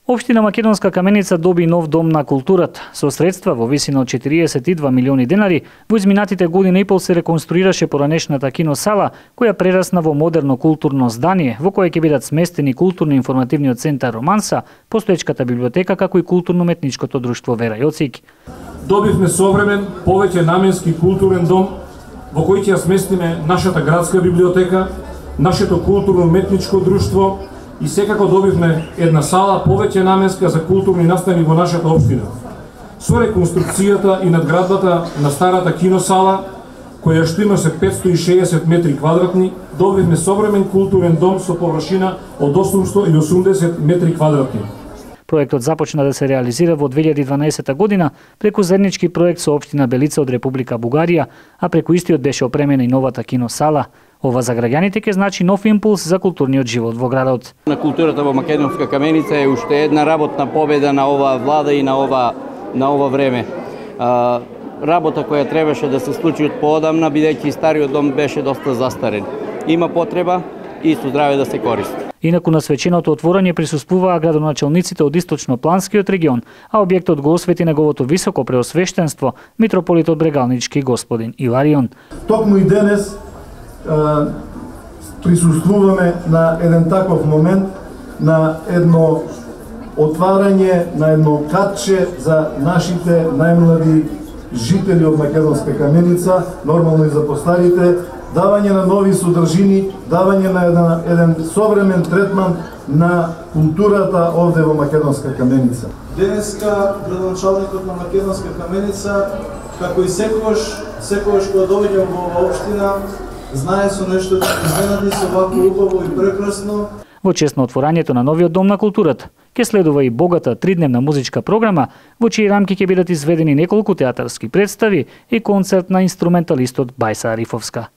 Општина Македонска Каменица доби нов дом на културата. Со средства во висина од 42 милиони денари, во изминатите година и пол се реконструираше поранешната киносала, која прерасна во модерно културно здание, во кое ќе бидат сместени културно-информативниот центар Романса, постоечката библиотека, како и културно-метничкото друштво Вера Јоцик. Добивме современ, повеќе наменски културен дом, во кој ќе ја сместиме нашата градска библиотека, нашето културно-метничко друштво, и секако добивме една сала повеќе наменска за културни настани во нашата општина. Со реконструкцијата и надградбата на старата киносала, која што имаше 560 метри квадратни, добивме современ културен дом со површина од 880 метри квадратни. Проектот започна да се реализира во 2012 година преку заеднички проект со општина Белица од Република Бугарија, а преку истиот беше опремена и новата киносала. Ова за граѓаните ќе значи нов импулс за културниот живот во градот. На културата во Македонска Каменица е уште една работна победа на оваа влада и на ова време. Работа која требаше да се случи од поодамна, бидејќи стариот дом беше доста застарен. Има потреба и со здраве да се користи. Инаку на свеченото отворање присуствуваа градоначалниците од источно-планскиот регион, а објектот го освети неговото високо преосвештенство, митрополитот Брегалнички господин Иларион. Токму и денес присуствуваме на еден таков момент, на едно отварање, на едно катче за нашите најмлади жители од Македонска Каменица, нормално и за постарите, давање на нови содржини, давање на еден современ третман на културата овде во Македонска Каменица. Денеска градоначалникот на Македонска Каменица, како и секогаш кога доаѓам во оваа општина, знае со нешто да изненади со вако убаво и прекрасно. Во чест на отворањето на новиот дом на културата ќе следува и богата тридневна музичка програма, во чии рамки ќе бидат изведени неколку театарски представи и концерт на инструменталистот Бајса Арифовска.